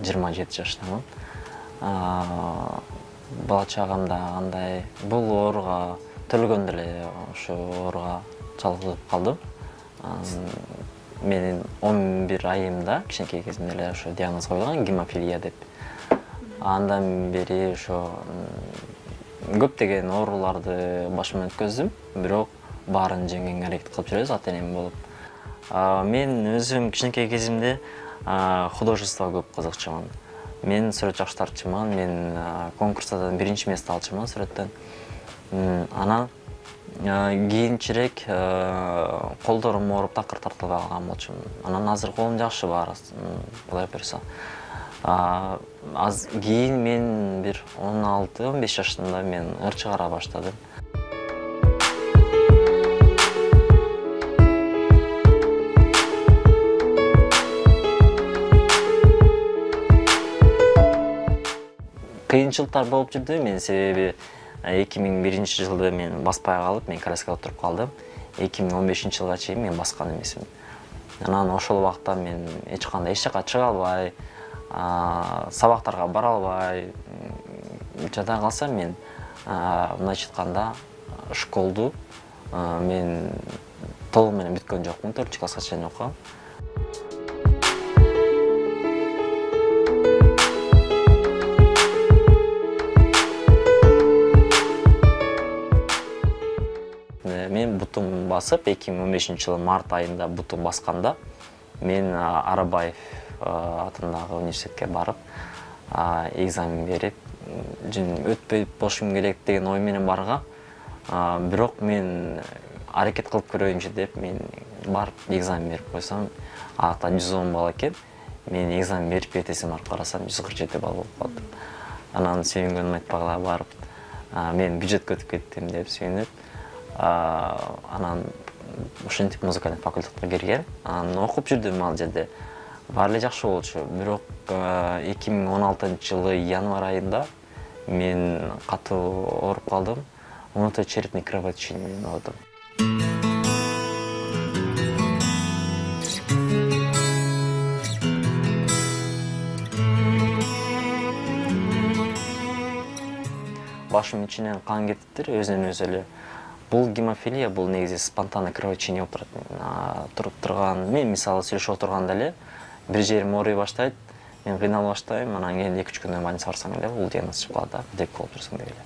27 жаштамын. Бала чагам да андай бул ооруга төлгөндө эле ошо ооруга чалдыгып калдым. Менин 11 айымда кичинекей кезимде эле ошо диагноз коюлган гемофилия деп. Андан бери ошо көптөгөн ооруларды башыман өткөздүм, бирок баарын жеңгенге аракет кылып жүрөбүз ата-энем болуп. Мен өзүм кичинекей кезимде художествого көп кызыкчумун. Мен сүрөт жакштырчумун, мен конкурстардан биринчи место алчумун сүрөттөн. Анан кийинчерээк колдорум ооруп такыр тартылбай калган болчумун. Анан азыр колум жакшы баары Кудай буйруса. Кийин мен бир 16-15 жашымда мен ыр чыгара баштадым. Кыйынчылыктар болуп жүрдү. Мен себеби 2001-жылы мен баспай калып, мен коляскага отуруп калдым. 2015-жылга чейин мен баскан эмесмин. Анан ошол убакта мен эч кандай эч жака чыга албай, сабактарга бара албай жада калсам, мен мындайча айтканда школду мен толугу менен бүткөн жокмун, 4-класска чейин окугам. Мен бутум басып, 2015-жылы март айында бутум басканда, мен Арабаев атындагы университетке барып, экзамен берип, өтпөй болушум керек деген ой менен баргам. Бирок мен аракет кылып көрөйүнчү деп, мен барып экзамен берип койсом, ата 110 балл экен. Мен экзамен берип этесин барып карасам, 147 балл болуп калды. Анан сүйүнгөнүм айтпагыла барып, мен бюджетке өтүп кеттим деп сүйүнүп, анан ушинтип музыкалдык факультетке кирген. Анан окуп жүрдүм ал жерде. Баары эле жакшы болчу. Бирок 2016-жылы январь айында мен катуу ооруп калдым. Унуточерепный кровотечение менен оорудум. Башым ичинен кан кетиптир, өзүнөн өзү эле. Бул гемофилия, бул негизи спонтанный кровотечение болуп турат. Туруп турган, мен мисалы сүйлөшүп отурганда эле бир жерим ооруй баштайт, мен кыйналып баштайм, анан кийин 2-3 күндөн больницага барсаң эле бул диагноз чыгып калат да, деп болуп турсаң деп эле.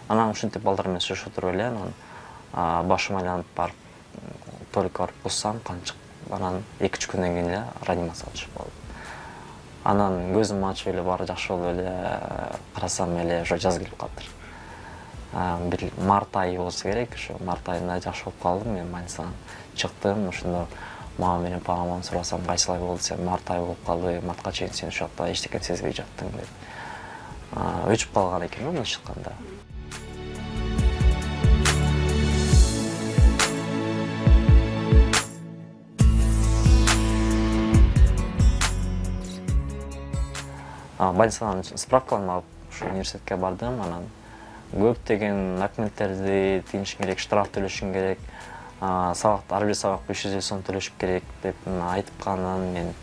Анан ушинтип балдар менен сүйлөшүп отуруп эле, анан башым айланып барып, только барып буссам, кан чыгып, анан 2-3 күндөн кийин эле реанимацияга түшүп калдым. Анан көзүм ачып эле баары жакшы болуп эле карасам эле ошо жаз келип калыптыр. Бир март айы болсо керек, ошо март айында жакшы болуп калдым, мен больницадан чыктым, ошондо мама менен папамдан сурасам, кайсылай болду десем, март айы болуп калды, мартка чейин сен ошол жакта эчтеке сезбей жаттың деп. Өчүп калган экен мындайча айтканда. Больницадан справкаларын алып, ушу университетке бардым, анан көптөгөн документтерди тигишиң керек, штраф төлөшүң керек, ар бир сабак 500 сом төлөшүп керек деп айткандан мен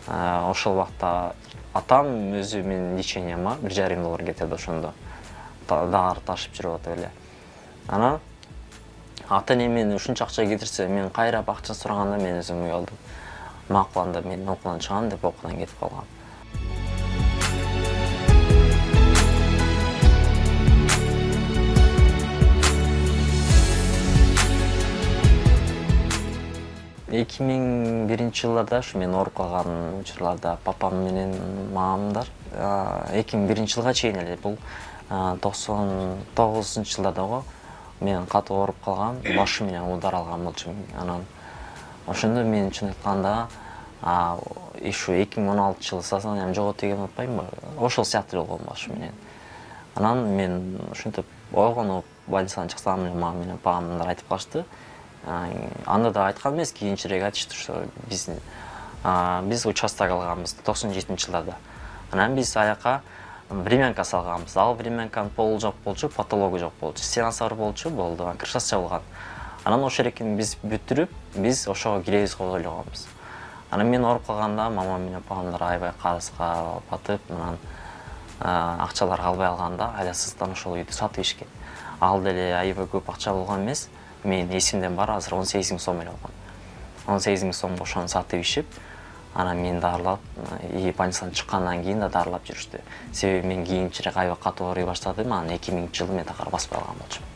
ошол убакта атам өзү менин леченияма $1,5 кетирди ошондо. Дагы ташып жүрүп атып эле. Анан ата-энем мен ушунча акча кетирсе, мен кайрап акча сураганда мен өзүм уялдым. Макул, анда мен окуудан чыгам деп окуудан кетип калгам. Эки миң биринчи жылдарда ушу мен ооруп калган учурларда папам менен мамамдар 2001 жылга чейин эле, бул 99-жылдарда мен катуу ооруп калгам, башым менен удар алган болчумун. Анан ошондо мен чын айтканда ушу 2016 жылы сознаниям жоготу деген атпаймынбы, ошол сыяктуу болгон башым менен. Анан мен ушинтип ойгонуп больницадан чыксам, мама менен папамдар айтып калышты. Анда да айткан эмес, кийинчерээк айтышты, что биз участок алганбыз 97-жылдарда. Анан биз аяка времянка салганбыз. Ал времянканын полу жок болчу, потологу жок болчу. Стенасы бар болчу, болду, крышасы жабылган. Анан ошол эркин биз бүтүрүп, биз ошого киребиз го ойлогонбуз. Анан мен ооруп калганда мамам менен апамдар аябай карызга батып, анан акчалар калбай калганда айласыздан ошол үйдү сатып ишкен. Ал деле аябай көп акча болгон эмес. Менин эсимден бар, азыр 18 000 сом эле болгон. 18 000 сомго ошону сатып ишип, анан мени дарылап, больницадан чыккандан кийин да дарылап жүрүштү. Себеби мен кийинчерээк аябай катуу ооруй баштадым, анан 2000-жылы мен такыр баспай калган болчумун.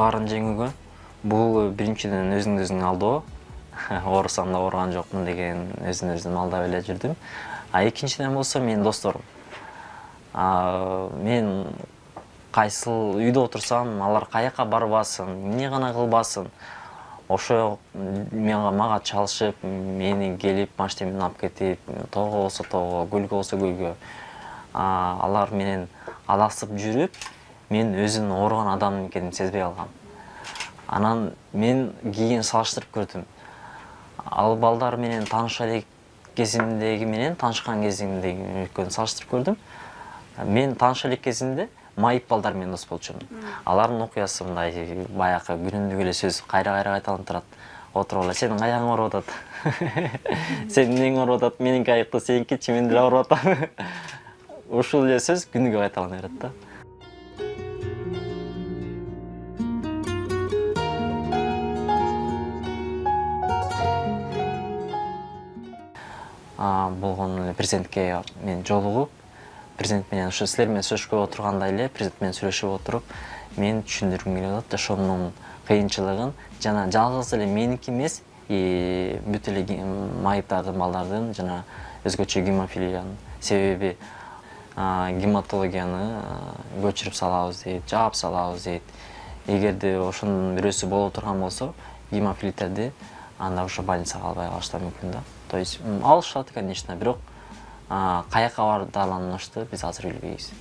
Баарын жеңүүгө бул биринчиден өзүңдүн алдоо, оорусам да ооруган жокмун деген өзүн алдап эле жүрдүм. Экинчиден болсо менин досторум. Мен кайсыл үйдө отурсам, алар каяка барбасын, эмне гана кылбасын, ошо мага чалышып, мени келип машина менен алып кетип, тоого болсо тоого, көлгө болсо көлгө алар менен адасып жүрүп, мен өзүм ооруган адам экенимди сезбей калгам. Анан мен кийин салыштырып көрдүм. Ал балдар менен тааныша элек кезимдеги менен таанышкан кезимдеги экөөнү салыштырып көрдүм. Мен тааныша элек кезимде майып балдар менен дос болчумун. Алардын окуясы мындай баягы күнүмдүк эле сөз кайра кайталанып турат. Отуруп эле сенин аягың ооруп атат. Сенин эмнең ооруп атат? Меники аяктуу, сеникичи мен деле ооруп атам. Ушул эле сөз күнүгө кайталана берет да. Болгон эле президентке мен жолугуп, президент менен ошо силер менен сүйлөшкө отурганда эле президент менен сүйлөшүп отуруп, мен түшүндүргүм келип атат жашоомдун кыйынчылыгын жана жалгыз эле меники эмес, бүт эле майыптардын балдардын жана өзгөчө гемофилиянын. Себеби гематологияны көчүрүп салабыз дейт, жаап салабыз дейт. Эгерде ошонун бирөөсү боло турган болсо, гемофилиттерди анда ошо больницага албай калышы да мүмкүн да. То есть алышат, конечно, бирок каяка бардыгын биз азыр билбейбиз.